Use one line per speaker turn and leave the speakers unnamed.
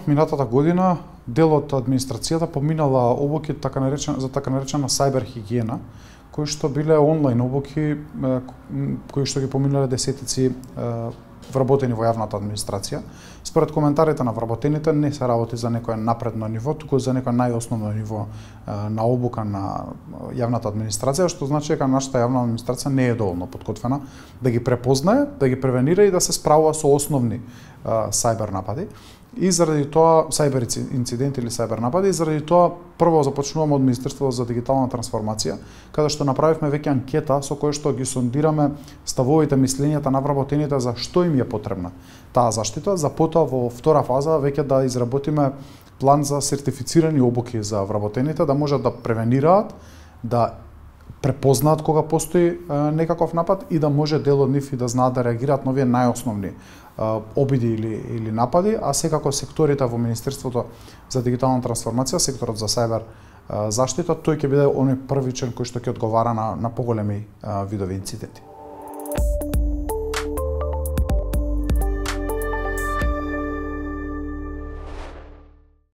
Минатата година дел од администрацијата поминала обуки за така наречена сајбер хигиена, кои што биле онлайн обуки кои што ги поминале десетици вработени во јавната администрација. Според коментарите на вработените не се работи за некое напредно ниво, туку за некое најосновно ниво на обука на јавната администрација, што значи дека нашата јавна администрација не е доволно подготвена да ги препознае, да ги превенира и да се справува со основни сајбер напади. И заради тоа сајбер инциденти или сајбер напади, и заради тоа прво започнуваме од Министерството за дигитална трансформација, каде што направивме веќе анкета со која што ги сондираме ставовите, мислењата на вработените за што им е потребна таа заштита, за потоа во втора фаза веќе да изработиме план за сертифицирани обуки за вработените, да можат да превенираат, да препознаат кога постои некаков напад и да може дел од нив и да знаат да реагираат на овие најосновни обиди или напади, а секако секторите во Министерството за дигитална трансформација, секторот за сајбер заштита, тој ќе биде оној првичен кој што ќе одговара на поголеми видови инциденти.